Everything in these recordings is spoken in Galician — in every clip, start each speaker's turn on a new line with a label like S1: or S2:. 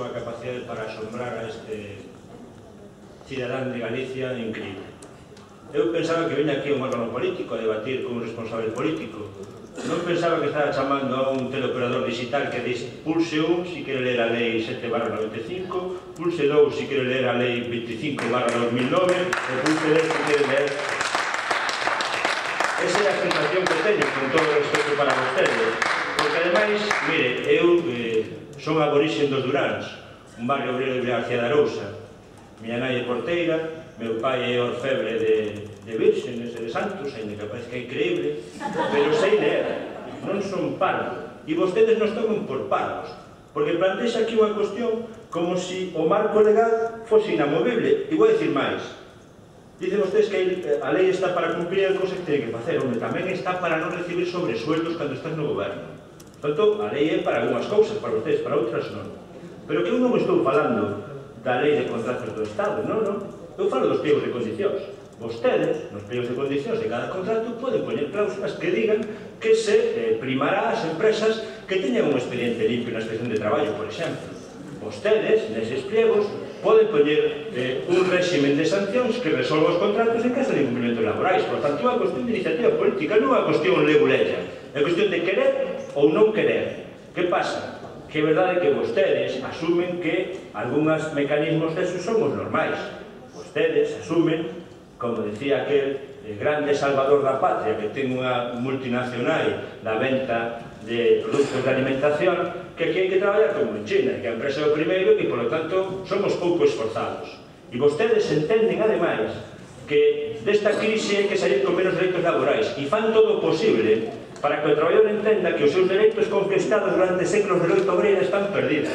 S1: súa capacidade para asombrar a este cidadán de Galicia increíble. Eu pensaba que viña aquí a un órgano político a debatir con un responsable político. Non pensaba que estaba chamando a un teleoperador digital que dice pulse 1 si quere ler a lei 7/95, pulse 2 si quere ler a lei 25/2009 e pulse 10 si quere ler... Esa é a sensación que teño con todo o respeto para vostedes. Porque ademais, mire, eu son aborixen dos Duráns, un barrio obrero de García de Arousa. Miña nai é porteira, meu pai é orfebre de vírgenes e de santos, ainda que parece que é increíble, pero sei ler, non son parvo. E vostedes nos toman por parvos, porque plantexa aquí unha cuestión como se o marco legal fose inamovible. E vou dicir máis. Dicen vostedes que a lei está para cumprir a cousa que teñen que facer, onde tamén está para non recibir sobresueldos cando estás no goberno. Portanto, a lei é para algunhas cousas, para vostedes, para outras non. Pero que eu non estou falando da lei de contratos do Estado, non, non. Eu falo dos pliegos de condicións. Vostedes, nos pliegos de condicións de cada contrato, poden poñer cláusulas que digan que se primará as empresas que teñan un expediente limpio na inspección de traballo, por exemplo. Vostedes, neses pliegos, poden poñer un réximen de sancións que resolva os contratos en caso de incumplimentos laborais. Por tanto, é unha cuestión de iniciativa política, non é unha cuestión leguleya. É cuestión de querer ou non querer. Que pasa? Que é verdade que vostedes asumen que algúns mecanismos desos son os normais. Vostedes asumen, como decía aquel grande salvador da patria que ten unha multinacional da venta de produtos de alimentación, que aquí hai que traballar como en China, que a empresa é o primeiro e que, por lo tanto, somos pouco esforzados. E vostedes entenden, ademais, que desta crise hai que salir con menos dereitos laborais e fan todo o posible para que o traballador entenda que os seus dereitos conquistados durante séculos de loita obreira están perdidos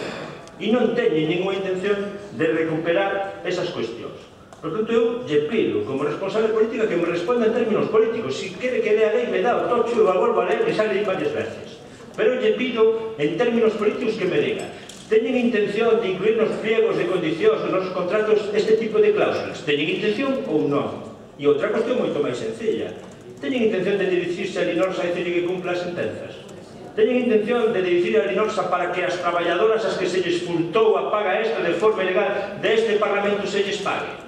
S1: e non teñen ninguna intención de recuperar esas cuestións. Por tanto, eu lle pido, como responsable política, que me responda en términos políticos. Si quere que lea a lei, me dá o tocho e eu a volvo a ler e xa leí varias veces. Pero lle pido, en términos políticos, que me diga: teñen intención de incluir nos pliegos de condicións dos nosos contratos este tipo de cláusulas? Teñen intención ou non? E outra cuestión moito máis sencilla: teñen intención de dirixirse a Linorsa e dicirle que cumpla as sentenzas? Teñen intención de dirixir a Linorsa para que as traballadoras as que se lles furtou a paga extra de forma ilegal deste Parlamento se lles pague?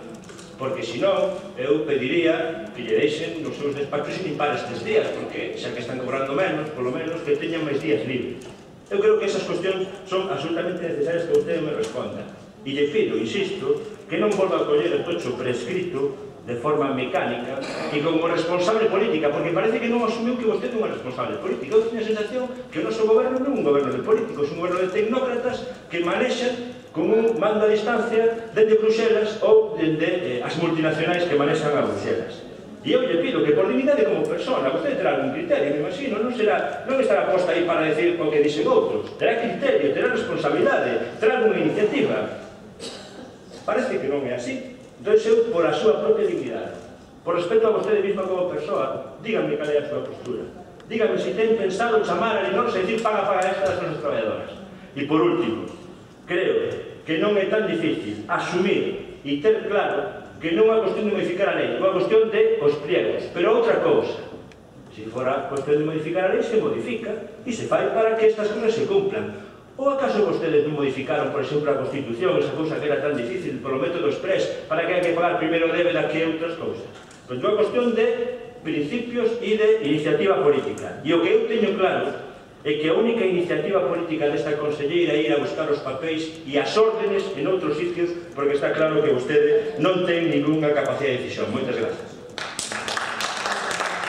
S1: Porque, senón, eu pediría que lle deixen nos seus despachos sin impar estes días, porque xa que están cobrando menos, polo menos que teñan máis días libres. Eu creo que esas cuestións son absolutamente necesarias que vostede me responda. E lle pido, insisto, que non volva a coller o tocho prescrito de forma mecánica e como responsable política, porque parece que non asumiu que vostede é unha responsable política. Eu teño a sensación que o noso goberno non é un goberno de políticos, é un goberno de tecnócratas que manexan con un mando a distancia dende Bruxelas ou dende as multinacionais que manexan a Bruxelas. E eu lle pido que por dignidade como persona, vostede terá algún criterio, me imagino, non estará posta aí para decir o que dixen outros, terá criterio, terá responsabilidade, terá alguna iniciativa. Parece que non é así. Entón, eu, por a súa propia dignidade, por respeto a vostede misma como persoa, dígame cal é a súa postura. Dígame se ten pensado chamar a Linorsa e dicir paga esta das nosas traballadoras. E por último, creo que non é tan difícil asumir e ter claro que non é unha cuestión de modificar a lei, é unha cuestión de os pliegos. Pero outra cousa, se fora cuestión de modificar a lei, se modifica e se fai para que estas cousas se cumplan. Ou acaso vostedes non modificaron, por exemplo, a Constitución, esa cousa que era tan difícil, polo método express, para que hai que pagar primeiro débeda que outras cousas? Pois é unha cuestión de principios e de iniciativa política. E o que eu teño claro é que a única iniciativa política desta conselleira é ir a buscar os papéis e as órdenes en outros sitios, porque está claro que vostede non ten ninguna capacidade de decisión. Moitas grazas.